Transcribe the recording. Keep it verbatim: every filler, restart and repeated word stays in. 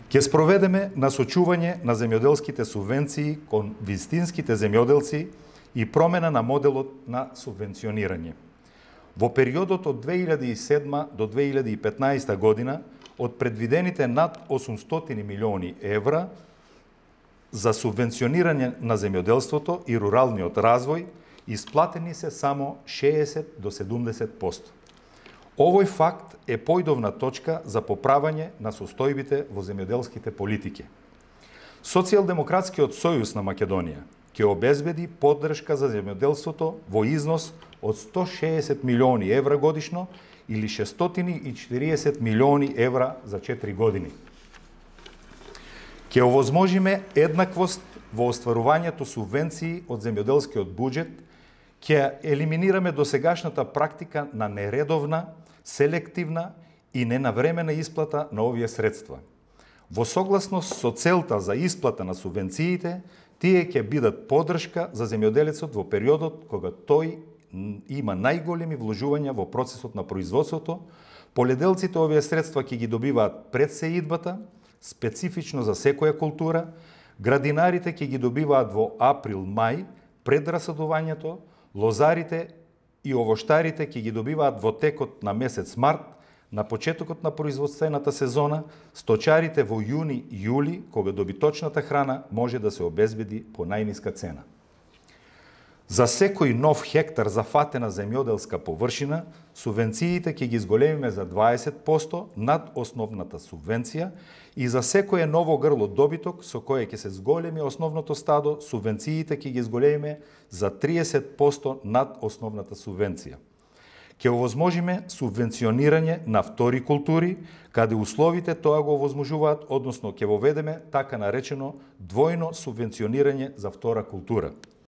Ќе спроведеме насочување на земјоделските субвенции кон вистинските земјоделци и промена на моделот на субвенционирање. Во периодот од две илјади и седма до две илјади и петнаесета година, од предвидените над осумстотини милиони евра за субвенционирање на земјоделството и руралниот развој, исплатени се само шеесет до седумдесет проценти. Овој факт е појдовна точка за поправање на состојбите во земјоделските политики. Социјалдемократскиот сојуз на Македонија ќе обезбеди поддршка за земјоделството во износ од сто шеесет милиони евра годишно или шестстотини и четириесет милиони евра за четири години. Ќе овозможиме еднаквост во остварувањето субвенции од земјоделскиот буџет, ќе елиминираме досегашната практика на нередовна, селективна и ненавремена исплата на овие средства. Во согласност со целта за исплата на субвенциите, тие ќе бидат поддршка за земјоделецот во периодот кога тој има најголеми вложувања во процесот на производството. Поледелците овие средства ќе ги добиваат пред сеидбата, специфично за секоја култура, градинарите ќе ги добиваат во април-мај пред расадувањето, лозарите и овоштарите ќе ги добиваат во текот на месец март, на почетокот на производствената сезона, сточарите во јуни-јули, кога добиточната храна може да се обезбеди по најниска цена. За секој нов хектар зафатена земјоделска површина, субвенциите ќе ги зголемиме за дваесет проценти над основната субвенција и за секое ново грло добиток со кое ќе се зголеми основното стадо, субвенциите ќе ги зголемиме за триесет проценти над основната субвенција. Ќе овозможиме субвенционирање на втори култури, каде условите тоа го овозможуваат, односно ќе воведеме така наречено двојно субвенционирање за втора култура.